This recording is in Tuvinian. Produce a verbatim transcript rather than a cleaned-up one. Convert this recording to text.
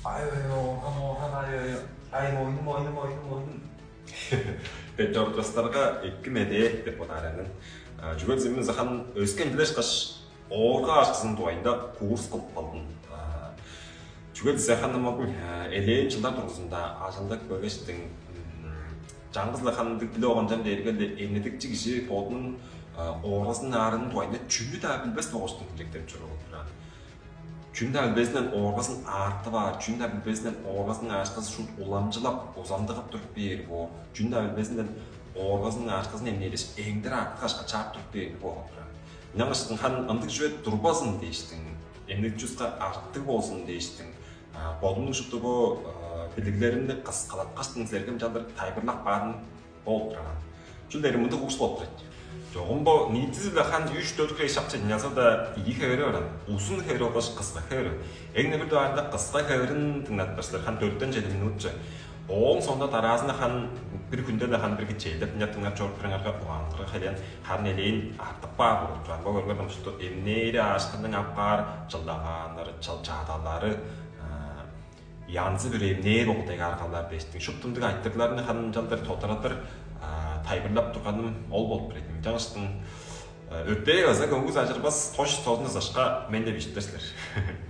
Ай, ой, оорган, оорган, ай, ой, ай, мойнум, мойнум, мойнум, мойнум. Деп чорудуптарга эки медээ деп бодаар мен. Чүге дезем, хан өскен билеш каш оорга ачызының дугайында курс кылып калдым. Чүге дезем, хан ам элээн чылдар дургузунда ажылдап келгештиң, чаңгыс-ла хан ындыг билип алган чам дээрге-ле, эмнедикчи кижи бодунуң ооргазының аарының дугайында чүнү-даа билбес болгаш хилчектенип чоруур болуп турар. Чүнү-даа билбезинден ооргазын аартып аар, чүнү-даа билбезинден ооргазының аарышказын шуут уламчылап, узамдыгып туруп бээр боор, чүнү-даа билбезинден ооргазының аарышказын эмнээр дээш, эңдере артык акша чаап туруп бээр боор болуп турар. Ынчангаштың хан ындыг чүве турбазын дээштиң, эмнедикчи улуска артык болзун дээштиң, бодумнуң шупту бо билиглеримни кыскалаткаштың, силерге ынчалдыр тайылбырлап каарын болуп турган. Чүл дээрге мындыг улус болуп турат. Чогум бо ниитизи-биле хан үш-дөрт хире шакчы ынчалза-даа ийи хевери бар. Узун хевери болгаш кыска хевери. Эң-не бир дугаарында кыска хеверин дыңнадып силер, хан дөрттен чеди минутче. Ооң соонда дараазында хан бир хүнде-ле хан бир кичээлдеп дыңнап, дыңнап чоруп турарыңарга, угааныңарга херек, хан элээн артып каар болуп турар. Бо көрүңер, ам шупту эмнээри, аарышкынның ап каар чылдагааннары, чыл чадалары, янзы-бүрү эмнээр болгу дег аргалар дээштиң. Шупту ындыг айтырыгларны хан ынчалдыр тодарадыр тайылбырлап турганым ол болуп турар ийин. Ынчангаштың өртээ база көңгүс ажырбас, тош тозун ызашка мен деп ишиттер силер.